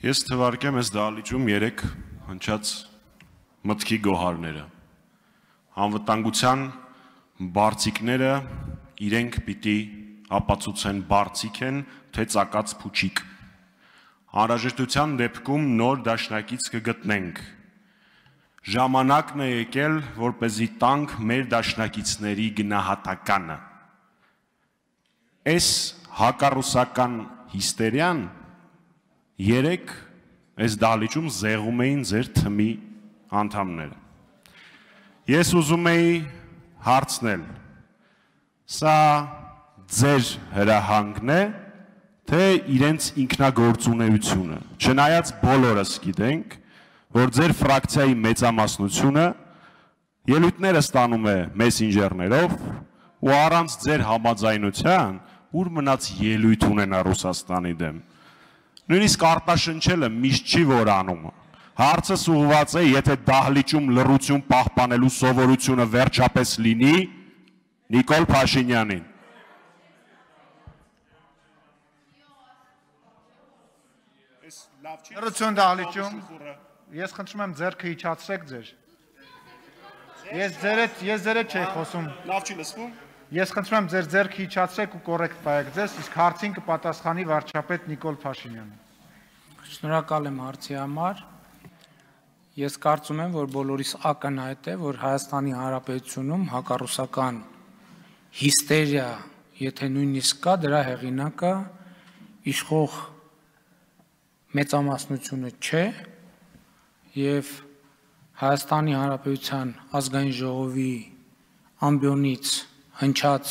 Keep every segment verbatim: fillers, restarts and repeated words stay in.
Ես թվարկեմ ես դահլիճում երեք հնչած մտքի գոհարները, անվտանգության բարձիկները իրենք պիտի ապացուցեն բարձիկ են, թե ծակած փուչիկ, անհրաժեշտության դեպքում նոր դաշնակից կգտնենք, ժամանակն է եկել, որպեսզի տանք մեր դաշնակիցների գնահատականը, այս հակառուսական հիստերիան երեք այս դահլիճում զեղում էին ձեր թմի անդամները, ես ուզում էի հարցնել, սա ձեր հրահանգն է, թե իրենց ինքնագործունեությունը, չնայած բոլորս գիտենք, որ ձեր ֆրակցիայի մեծամասնությունը ելույթները ստանում է մեսենջերներով ու առանց ձեր համաձայնության, ուր մնաց ելույթ ունենա Ռուսաստանի դեմ, նույնիսկ արտաշնչելը միշտ չի որ անում, հարցս ուղղված է, եթե դահլիճում լռություն պահպանելու սովորությունը վերջապես լինի Նիկոլ Փաշինյանին։ Լռություն դահլիճում, ես խնդրում եմ ձեռքը իջացրեք ձեր։ Ես ձերդ, ես ձերդ չէի խոսում։ Լավ չի լսվում։ Ես խնդրում եմ ձեր ձեռքը իջացրեք ու կոռեկտ պայեք ձեզ, իսկ հարցին կպատասխանի վարչապետ Նիկոլ Փաշինյանը։ Շնորհակալ եմ հարցի համար։ Ես կարծում եմ, որ բոլորիս ակնհայտ է, որ Հայաստանի Հանրապետությունում հակառուսական հիստերիա, եթե նույնիսկ կա, դրա հեղինակը իշխող մեծամասնությունը չէ եւ Հայաստանի Հանրապետության ազգային ժողովի ամբիոնից հնչած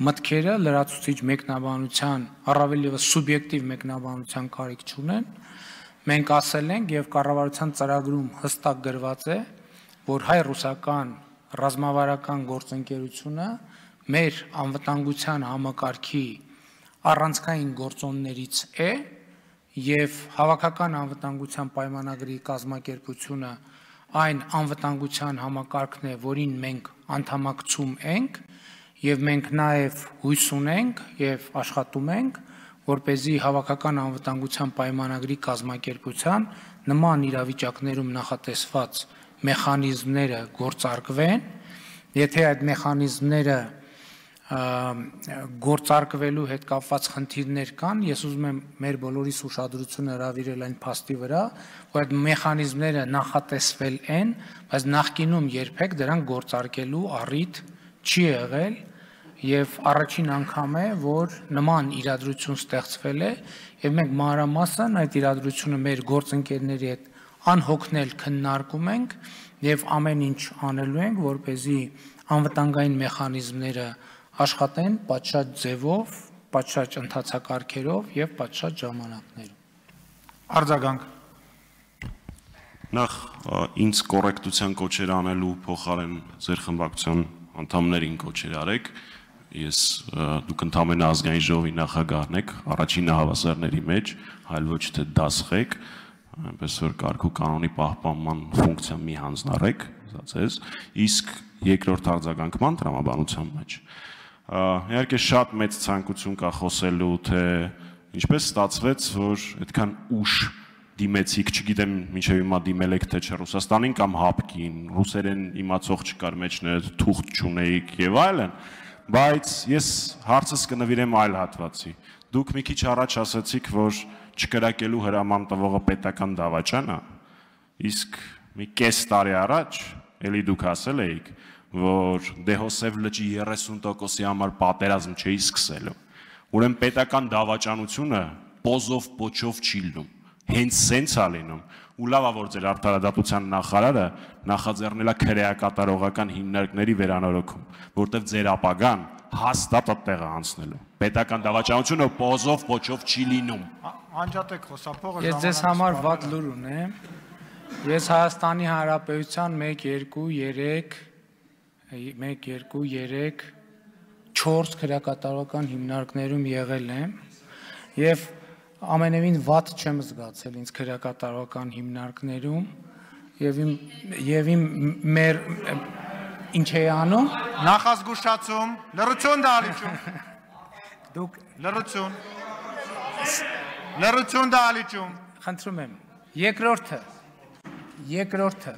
մտքերը լրացուցիչ մեկնաբանության, առավել ևս սուբյեկտիվ մեկնաբանության կարիք չունեն, մենք ասել ենք եւ կառավարության ծրագրում հստակ գրված է, որ հայ-ռուսական ռազմավարական գործընկերությունը մեր անվտանգության համակարգի առանցքային գործոններից է եւ հավաքական անվտանգության պայմանագրի կազմակերպությունը այն անվտանգության համակարգն է, որին մենք անդամակցում ենք եւ մենք նաեւ հույս ունենք եւ աշխատում ենք, որպեսզի հավաքական անվտանգության պայմանագրի կազմակերպության նման իրավիճակներում նախատեսված մեխանիզմները գործարկվեն, եթե այդ մեխանիզմները գործարկվելու հետ կապված խնդիրներ կան, ես ուզում եմ մեր բոլորիս ուշադրությունը հրավիրել այն փաստի վրա, որ այդ մեխանիզմները նախատեսվել են, բայց նախկինում երբեք դրանք գործարկելու առիթ չի եղել եւ առաջին անգամ է, որ նման իրադրություն ստեղծվել է եւ մենք մանրամասն այդ իրադրությունը մեր գործընկերների հետ անհոգնել քննարկում ենք եւ ամեն ինչ անելու ենք, որպեսզի անվտանգային մեխանիզմները աշխատեն պատշաճ ձևով, պատշաճ ընթացակարգերով եւ պատշաճ ժամանակներում։ Արձագանք։ Նախ ինձ կոռեկտության կոչեր անելու փոխարեն ձեր խմբակցության անդամներին կոչեր արեք, ես դուք ընդամենը ազգային ժողովի նախագահն եք, առաջին հավասարների մեջ, այլ ոչ թե դասղեք, այնպես որ կարգ ու կանոնի պահպանման ֆունկցիա մի հանձնարեք, ձեզ, իսկ երկրորդ արձագանքման տրամաբանության մեջ։ Իհարկե շատ մեծ ցանկություն կա խոսելու, թե ինչպես ստացվեց, որ այդքան ուշ դիմեցիք, չգիտեմ մինչև հիմա դիմել եք թե չէ Ռուսաստանին կամ ՀԱՊԿ-ին, ռուսերեն իմացող չկար մեջներ, թուղթ չունեիք եւ այլն, բայց ես հարցս կնվիրեմ այլ հատվածի։ Դուք մի քիչ առաջ ասացիք, որ չկրակելու հրաման տվողը պետական դավաճան է, իսկ մի կես տարի առաջ էլի դուք ասել էիք, որ Դեհոսև լճի երեսուն տոկոսի համար պատերազմ չէի սկսելու։ Ուրեմն պետական դավաճանությունը պոզով պոչով չի լինում, հենց սենց է լինում։ Ու լավ է, որ ձեր արդարադատության նախարարը նախաձեռնել է քրեակատարողական հիմնարկների վերանորոգում, որտեղ ձեր ապագան հաստատ այդտեղ է անցնելու։ Պետական դավաճանությունը պոզով պոչով չի լինում։ Անջատեք խոսափողը։ Ես ձեզ համար վատ լուր ունեմ։ Ես Հայաստանի Հանրապետության մեկ, երկու, երեք մեկ, երկու, երեք, չորս քրեակատարողական հիմնարկներում եղել եմ եւ ամենևին վատ չեմ զգացել ինձ քրեակատարողական հիմնարկներում եւ իմ եւ իմ մեր ինչ է անում նախազգուշացում լռություն դահլիճում դուք լռություն լռություն դահլիճում խնդրում եմ, երկրորդը, երկրորդը,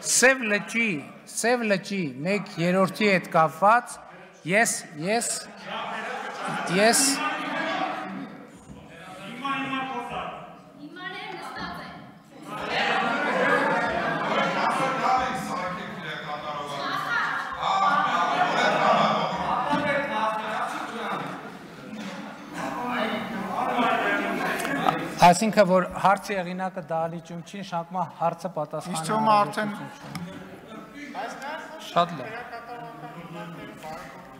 Սև լճի, Սև լճի մեկ երրորդի հետ կապված, ես, ես, ես, Այսինքն, որ հարցի եղինակը դահլիճում չի, նշանակում է հարցը պատասխանը։ Իսկ թվում է արդեն շատ լավ։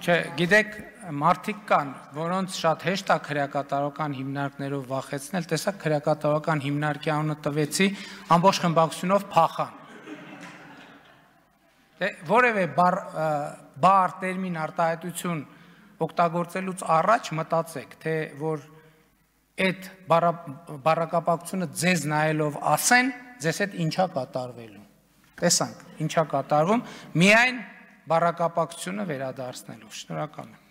Չէ, գիտեք, մարդիկ կան, որոնց շատ հեշտ է քրեակատարական հիմնարկներով վախեցնել, տեսակ քրեակատարական հիմնարկի անունը տվեցի, ամբողջ խմբակցությունով փախան։ Որևէ բառ, տերմին, արտահայտություն օգտագործելուց առաջ մտածեք, թե որ այդ բառակապակցությունը ձեզ նայելով ասեն, ձեզ հետ ինչա կատարվելու։ Տեսանք, ինչա կատարվում, միայն բառակապակցությունը վերադարձնելով։ Շնորհակալ եմ։